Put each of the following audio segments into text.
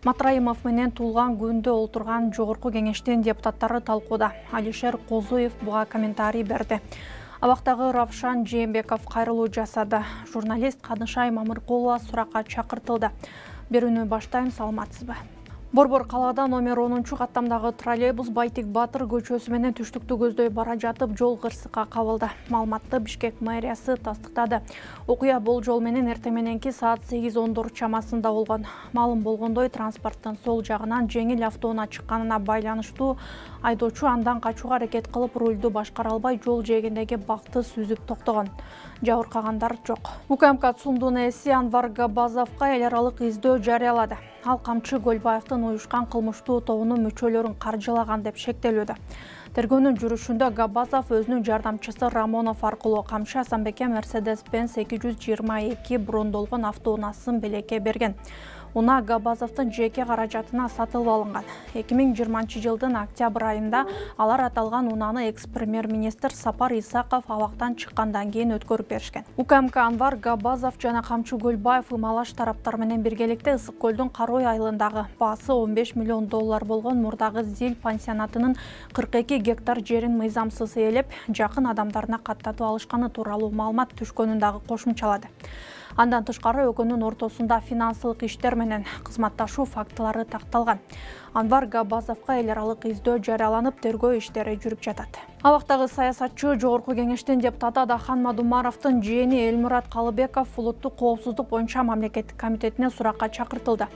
Матраимов менен туулган күндө олтурган жогорку кеңештин депутаттары талкууда. Алишер Козуев буга комментарий берди. Абактагы Равшан Жээнбеков кайрылуу жасады. Журналист Канышай Мамыркулова суракка чакыртылды. Берүүнү баштайм, саламатсызбы? Борбор калаада номер 10 каттамдагы троллейбус Байтик Батыр көчөсү менен түштүктү көздөй бара жатып жол кырсыкка кабылды. Маалыматты Бишкек мэриясы тастыктады. Окуя болжол менен эртең мененки саат 8:10 чамасында болгон. Маалым болгондой, транспорттун сол жагынан жеңил автоунаа чыкканына байланыштуу айдоочу андан качууга аракет кылып рулду башкара албай жол жээгиндеги бакты сүзүп токтогон. Жабыркагандар жок. УКМК ЦУМдун ээси Анвар Габазовго эл аралык издөө жарыялады. Ал Камчы Көлбаевдин уюшкан кылмыштуу тобунун мүчөлөрүн каржылаган деп шектелүүдө. Тергөөнүн жүрүшүндө Габазов өзүнүн жардамчысы Рамонов аркылуу Камчы Асанбекке Mercedes-Benz 222 брондолгон автоунаасын белекке берген. Унаа Габазовдун жеке каражатына сатылып алынган. 2020 жылдын октябрь айында алар аталган унааны экс-премьер-министр Сапар Исаков абактан чыккандан кийин өткөрүп беришкен. УКМК Анвар Габазов жана Камчы Көлбаев ымалаш тараптар менен биргеликте Ысык көлдүн Карой айылындагы баасы 15 миллион доллар болгон мурдагы Зил пансионатынын 42 гектар жерин мыйзамсыз ээлеп, жакын адамдарына каттатып алышканы тууралуу маалымат түшкөнүн дагы кошумчалады. Андан тышкары экөөнүн ортосунда финансылык иштер менен кызматташуу фактылары такталган. Анвар Габазовго эл аралык издөө жарыяланып, тергөө иштери жүрүп жатат. Абактагы саясатчы жогорку кеңештин депутаты Адахан Мадумаровдун жээни Элмурат Калыбеков улуттук коопсуздук боюнча мамлекеттик комитетине суракка чакыртылды.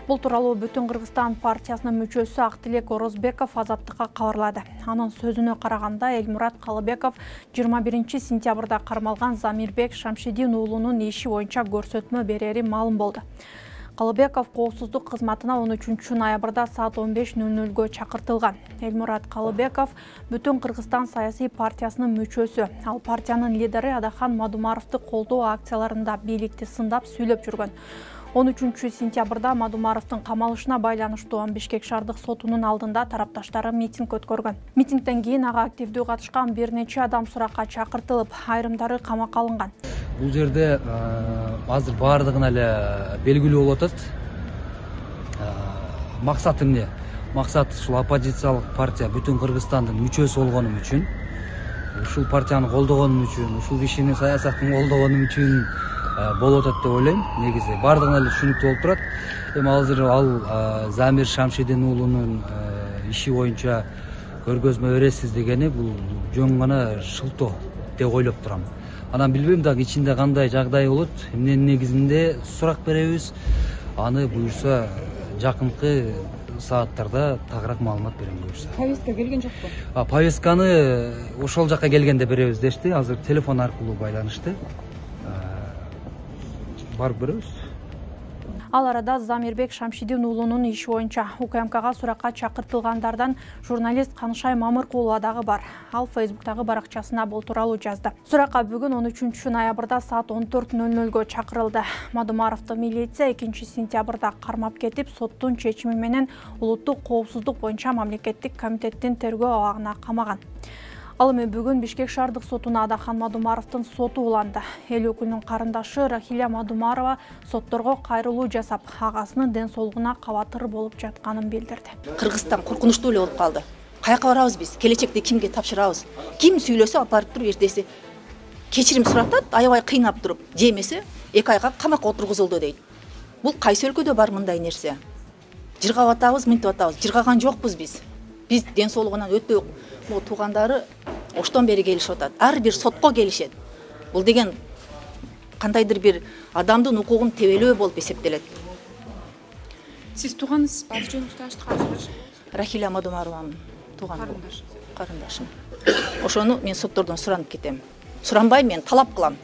Бул тууралуу Бүтүн Кыргызстан партиясынын мүчөсү Актилек Орозбеков Азаттыкка кабарлады. Анын сөзүнө караганда, Элмурат Калыбеков 21 сентябрда кармалган Замирбек Шамшидин уулунун иши боюнча көрсөтмө берери маалым болду. Калыбеков коопсуздук кызматына 13 ноябрда саат 15:00 чакыртылган. Элмурат Калыбеков Бүтүн Кыргызстан саясий партиясынын мүчөсү. Ал партиянын лидери Адахан Мадумаровду колдоо акцияларында бийликти сындап сүйлөп жүргөн. 13 сентябрда Мадумаровдун камалышына байланыштуу Бишкек шаардык сотунун алдында тарапташтары митинг өткөргөн. Митингден кийин ага активдүү катышкан бир нече адам суракка чакыртылып, айрымдары камакка алынган. Бул жерде азыр баардыгына эле белгилүү болуп атат. Максат эмне? Максат ушул оппозициялык партия Бүтүн Кыргызстандын мүчөсү болгонум үчүн, ушул партияны колдогонум үчүн, ушул кишини саясатын колдогонум үчүн болуп атат деп ойлойм. Негизи баардыгына эле түшүнүктүү болуп турат. Эми азыр ал Замир Шамшидин уулунун иши боюнча көргөзмө бересиз дегени бул жөн гана шылтоо деп ойлоп турам. Анан билбейм дагы ичинде кандай жагдай болот. Эмненин негизинде сурак беребиз. Аны буюрса жакынкы сааттарда тагыраак маалымат берем буюрса. Повестка келген жокпу? Повестканы ошол жакка келгенде беребиз дешти. Азыр телефон аркылуу байланышты. Барып беребиз. Ал арада Замирбек Шамшидин уулунун иши боюнча УКМКга суракка чакыртылгандардан журналист Канышай Мамыркулова дагы бар. Ал Фейсбуктагы баракчасына бул тууралуу жазды. Суракка бүгүн 13 ноябрда саат 14:00 чакырылды. Мадумаровду милиция 2 сентябрда кармап кетип, соттун чечими менен улуттук коопсуздук боюнча мамлекеттик комитеттин тергөө абагына камаган. Ал эми бүгүн Бишкек шаардык сотуна Адахан Мадумаровдун соту уланды. Эл өкүлүнүн карындаш Рахиля Мадумарова сотторго кайрылуу жасап, агасынын ден соолугуна кабатыр болуп жатканын билдирди. Кыргызстан коркунучтуу эле болуп калды. Каяка барабыз биз? Келечекте кимге тапшырабыз? Ким сүйлөсө алып барып туруп эртеси кечирим суратат, аябай кыйнап туруп, же эмесе 2 айга камакка отургузулду дейт. Бул кайсы өлкөдө бар мындай нерсе? Жыргап атабыз, мынтип атабыз. Жыргаган жокпуз биз. Биз ден соолугунан өтө туугандары оштон бери келишип атат. Ар бир сотко келишет. Бул деген кандайдыр бир адамдын укугун тебелөө болуп эсептелет. Сиз тууганысыз, аты жөнүңүздү ачтыңызбы? Рахиля Мадумарованын карындашым. Ошону мен соттордон суранып кетем. Суранбай мен талап кылам.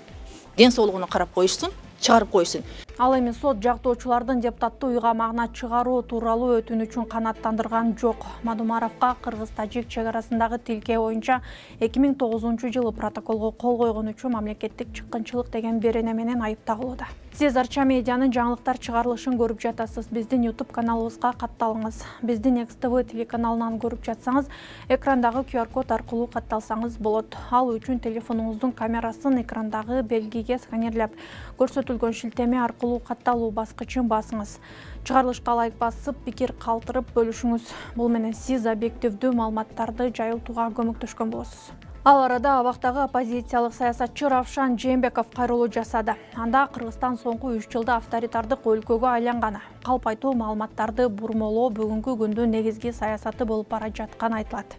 Ден соолугуна карап коюшсун, чыгарып коюшсун. Ал эми сот жактоочулардын депутаттуу уйгамагына чыгаруу тууралуу өтүнүчүн канааттандырган жок. Мадумаровго Кыргыз-Тажик чек арасындагы тилке боюнча 2009 жылы протоколго кол койгон үчүн мамлекеттик чыккынчылык деген берене менен айыпталууда. Сиз Арча медианын жаңылыктар чыгарылышын көрүп жатасыз. Биздин YouTube каналыбызга катталыңыз. Биздин XTV телеканалынан көрүп жатсаңыз, экрандагы QR код аркылуу катталсаңыз болот. Ал үчүн телефонуңуздун камерасын экрандагы белгиге сканерлеп, көрсөтүлгөн шилтеме аркылуу аркылуу катталуу баскычын басыңыз. Чыгарылышка лайк басып, пикир калтырып бөлүшүңүз. Бул менен сиз объективдүү маалыматтарды жайылтууга көмөктөшкөн болосуз. Ал арада абактагы оппозициялык саясатчы Равшан Жээнбеков кайрылуу жасады. Анда Кыргызстан соңку 3 жылда авторитардык өлкөгө айланганы, калп айтуу маалыматтарды бурмолоо бүгүнкү күндүн негизги саясаты болуп бара жатканы айтылат.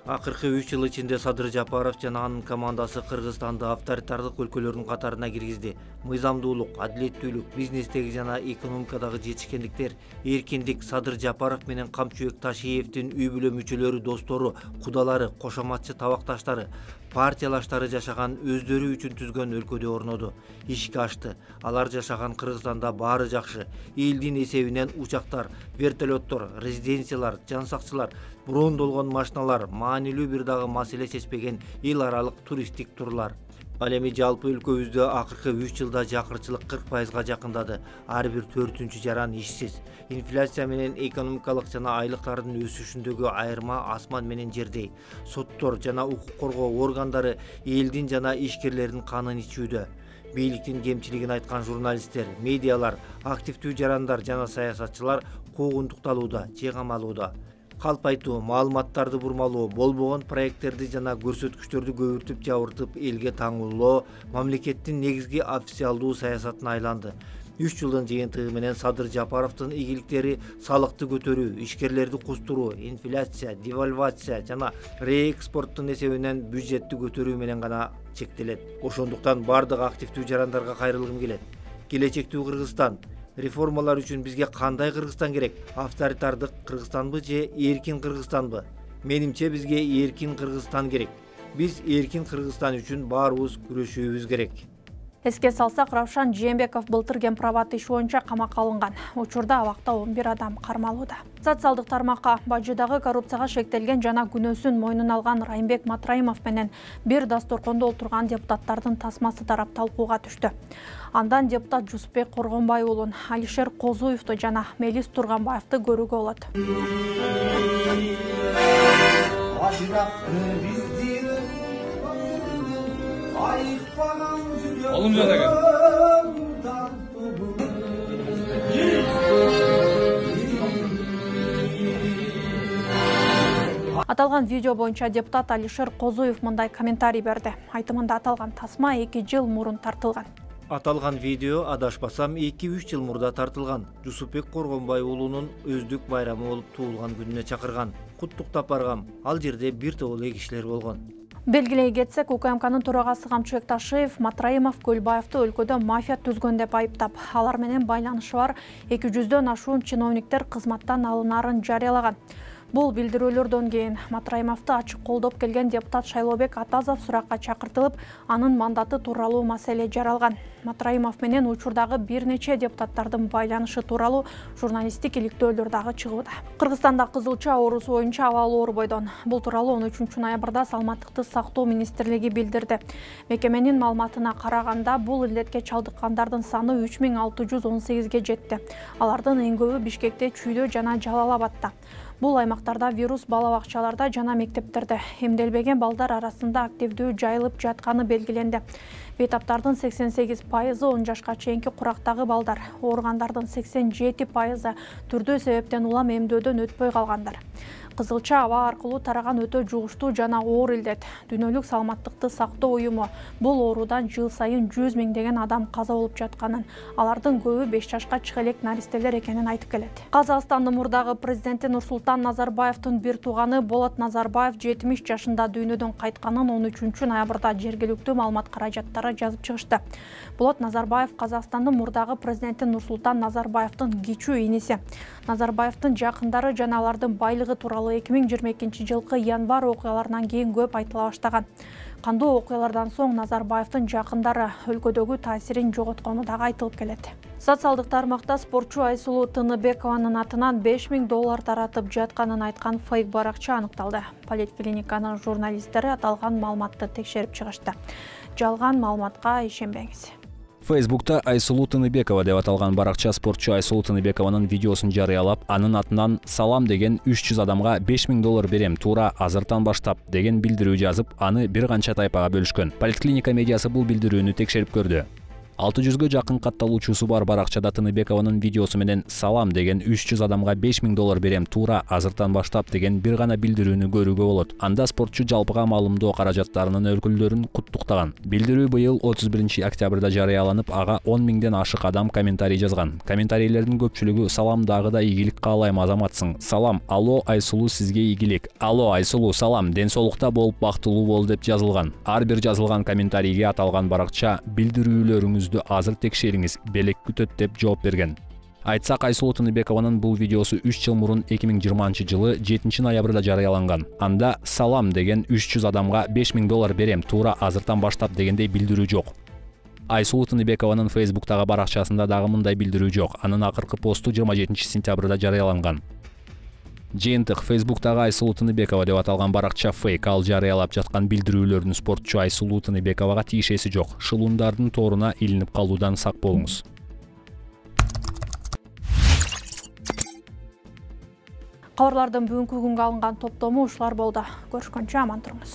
Акыркы 3 жыл ичинде Садыр Жапаров жана анын командасы Кыргызстанды авторитардык өлкөлөрдүн катарына киргизди. Мыйзамдуулук, адилеттүүлүк, бизнестеги жана экономикадагы жетишкендиктер, эркиндик Садыр Жапаров менен Камчыбек Ташиевдин үй бүлө мүчөлөрү, достору, кудалары, кошоматчы табакташтары, партиялаштары жашаган өздөрү үчүн түзгөн өлкөдө орноду. Ишке ашты. Алар жашаган Кыргызстанда баары жакшы. Элдин эсебинен учактар, вертолеттор, резиденциялар, жан сакчылар, брондолгон машиналар, маанилүү бир дагы маселе чечпеген эл аралык туристтик турлар. Ал эми жалпы өлкөбүздө акыркы 3 жылда жакырчылык 40%га жакындады. Ар бир 4-чү жаран ишсиз. Инфляция менен экономикалык жана айлыктардын өсүшүндөгү айырма асман менен жердей. Соттор жана укук коргоо органдары элдин жана ишкерлердин канын ичүүдө. Бийликтин кемчилигин айткан журналисттер, медиалар, активдүү жарандар жана саясатчылар куугунтукталууда, же камалууда. Калп айтуу, маалыматтарды бурмалоо, болбогон проекттерди жана көрсөткүчтөрдү көбүртүп жабыртып элге таңуулоо мамлекеттин негизги официалдуу саясатына айланды. 3 жылдын жыйынтыгы менен Садыр Жапаровдун ийгиликтери салыкты көтөрүү, ишкерлерди кустуруу, инфляция, девальвация жана реэкспорттун эсебинен бюджетти көтөрүү менен гана чектелет. Ошондуктан бардык активдүү жарандарга кайрылгым келет. Келечектүү Кыргызстан, реформалар үчүн бизге кандай Кыргызстан керек? Авторитардык Кыргызстанбы же эркин Кыргызстанбы? Менимче бизге эркин Кыргызстан керек. Биз эркин Кыргызстан үчүн баарыбыз күрөшүүбүз керек. Эске салсак, Равшан Жээнбеков былтыр кемпирабад иши боюнча камакка алынган. Учурда абакта 11 адам кармалууда. Социалдык тармакка Бажыдагы коррупцияга шектелген жана күнөөсүн мойнуна алган Райымбек Матраимов менен бир дастуркондо отурган депутаттардын тасмасы тарап талкууга түштү. Андан депутат Жусупбек Коргонбай уулун, Алишер Козуевду жана Мелис Турганбаевди көрүүгө болот. Oğlum zaten gel. Аталган видео боюнча депутат Алишер Козуев мындай комментарий берди. Айтымында аталган тасма 2 жыл мурун тартылган. Аталган видео адашпасам 2-3 жыл мурда тартылган. Жусупбек Коргонбай уулунун өздүк байрамы болуп туулган күнүнө чакырган. Куттуктап баргам. Ал жерде бир топ эле кишилер болгон. Белгилей кетсек, УКМКнын төрагасы Камчыбек Ташиев Матраимов Көлбаевди өлкөдө мафия түзгөн деп айыптап, алар менен байланышы бар 200дөн ашуун чиновниктер кызматтан алынарын жарыялаган. Бул билдирүүлөрдөн кийин Матраимовду ачык колдоп келген депутат Шайлообек Атазов суракка чакыртылып, анын мандаты тууралуу маселе жаралган. Матраимов менен учурдагы бир нече депутаттардын байланышы тууралуу журналисттик иликтөөлөр дагы чыгууда. Кыргызстанда кызылча оорусу боюнча абалы оор бойдон. Бул тууралуу 13 ноябрда Саламаттыкты сактоо министрлиги билдирди. Мекеменин маалыматына караганда, бул илдетке чалдыккандардын саны 3618ге жетти. Алардын эң көбү Бишкекте, Чүйдө жана Жалал Абадта. Бул аймактарда вирус бала бакчаларда жана мектептерде эмделбеген балдар арасында активдүү жайылып жатканы белгиленди. Бейтаптардын 88% 10 жашка чейинки курактагы балдар, ооругандардын 87% түрдүү себептен улам эмдөөдөн өтпөй калгандар. Кызылча аба аркылуу тараган өтө жугуштуу жана оор илдет. Дүйнөлүк саламаттыкты сактоо уюму бул оорудан жыл сайын 100 миңдеген адам каза болуп жатканын, алардын көбү 5 жашка чыга элек наристелер экенин айтып келет. Казакстандын мурдагы президенти Нурсултан Назарбаевдин бир тууганы Болот Назарбаев 70 жашында дүйнөдөн кайтканын 13 ноябрда жергиликтүү маалымат каражаттары жазып чыгышты. Болот Назарбаев Казакстандын мурдагы президенти Нурсултан Назарбаевдин кичүү иниси. Назарбаевдин жакындары жана алардын байлыгы тууралуу 2022 жылкы январь окуяларынан кийин көп айтыла баштаган. Кандуу окуялардан соң Назарбаевдин жакындары өлкөдөгү таасирин жоготкону дагы айтылып келет. Социалдык тармакта спортчу Айсулуу Тыныбекованын атынан $5000 таратып жатканын айткан фейк баракча аныкталды. Поликлиниканын журналисттери аталган маалыматты текшерип чыгышты. Жалган маалыматка ишенбеңиз. Фейсбукта Айсулуу Тыныбекова деп аталган баракча спортчу Айсулуу Тыныбекованын видеосун жарыялап, анын атынан «Салам деген 300 адамга $5000 берем, туура азыртан баштап» деген билдирүү жазып, аны бир канча тайпага бөлүшкөн. Поликлиника медиасы бул билдирүүнү текшерип көрдү. 600-гө жакын катталуучусу бар баракчада Тыныбекованын видеосу менен «Салам» деген 300 адамга $5000 берем туура азыртан баштап деген бир гана билдирүүнү көрүүгө болот. Анда спортчу жалпыга маалымдоо каражаттарынын өкүлдөрүн куттуктаган. Билдирүү быйыл 31 октябрда жарыяланып, ага 10 000ден ашык адам комментарий жазган. Комментарийлердин көпчүлүгү «Салам, дагы ийгилик каалайм азаматсың. Салам, алло Айсулуу, сизге ийгилик. Алло Айсулуу, салам, ден соолукта болуп бактылуу бол» деп жазылган. Ар бир жазылган комментарийге аталган баракча «Билдирүүлөрүңүздү азыр текшериңиз, белек күтөт» деп жооп берген. Айтсак, Айсулуу Тыныбекованын бул видеосу 3 жыл мурун 2020 жылы 7 ноябрда жарыяланган. Анда «Салам» деген 300 адамга $5000 берем туура азыртан баштап дегендей билдирүү жок. Айсулуу Тыныбекованын Facebook'тагы баракчасында дагы мындай билдирүү жок. Анын акыркы посту 27 сентябрда жарыяланган. Жыйынтык Facebook'тагы Айсулуу Тыныбекова деп аталган баракча фейк. Ал жарыялап жаткан билдирүүлөрдүн спортчу Айсулуу Тыныбековага тиешеси жок. Шылуундардын торуна илинип калуудан сак болуңуз. Кабарлардын бүгүнкү күнгө алынган топтому ушулар болду. Көрүшкөнчө аман туруңуз.